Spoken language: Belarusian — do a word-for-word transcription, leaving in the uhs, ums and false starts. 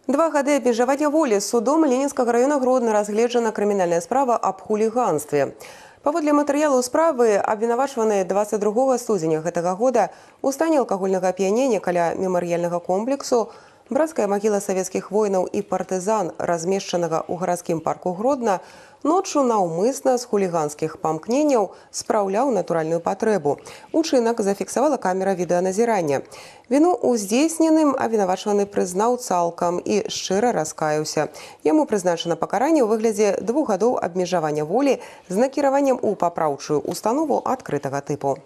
Два гады абмежавання волі судом Ленінскага района Гродно разгледжана крымінальная справа аб хуліганстве. Паводле матэрыялу справы абвінавачваны дваццаць другога студзеня гэтага года у стане алкагольнага ап'янення каля мемарыяльнага комплексу брацкая магіла савецкіх воінаў і партызан, размешчанага ў гарадскім парку Гродно, ноччу наўмысна з хуліганскіх памкненняў спраўляў натуральную патрэбу. Учынак зафіксавала камера відэаназірання. Віну ў здзейсненым абвінавачваны прызнаў цалкам і шчыра раскаяўся. Яму прызначана пакаранне ў выглядзе двух гадоў абмежавання волі з накіраваннем у папраўчую установу адкрытага тыпу.